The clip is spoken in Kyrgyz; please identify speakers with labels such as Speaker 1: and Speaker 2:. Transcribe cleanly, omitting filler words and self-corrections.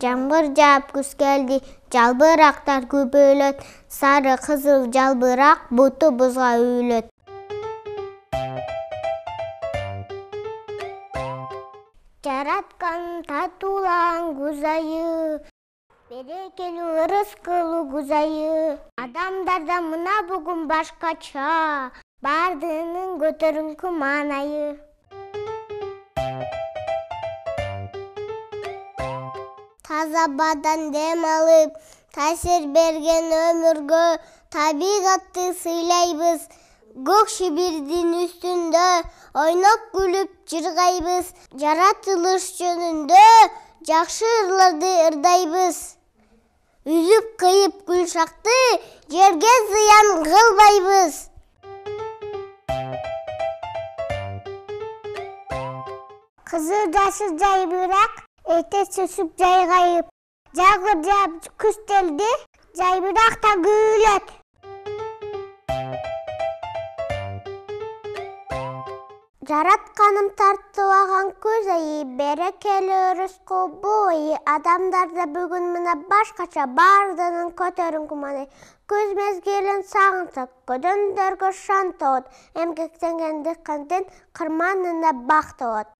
Speaker 1: Жамгыр жаап күз келди, жалбырактар көбөйлөт. Сары кызыл жалбырак буту бузга үйлөт. Жараткан татуулан күз айы, берекелүү ырыскылуу күз айы. Адамдарда мына бүгүн башкача, бардыгынын көтөрүңкү маанайы. Таза абадан дем алып, таасир берген өмүргө табигатты сыйлайбыз. Көк шибирдин үстүндө ойноп күлүп жыргайбыз. Жаратылыш жөнүндө жакшы ырларды ырдайбыз. Үзүп кыйып гүлшакты жерге зыян кылбайбыз. Кызыл жашыл жайбырак, эртеч өсүп жайгайып. Жамгыр жаап күз келди, жайбырак да күйлөт. Жаратканым тартыбаган күз айы, берекелүү ырыскылуу бул айы. Адамдарда бүгүн мына башкача, бардыгынын көтөрүңкү маанайы. Күз мезгилин сагынсак, көдөмдөргө шан тогот. Эмгектенген дыйкандын кырманында бак тогот.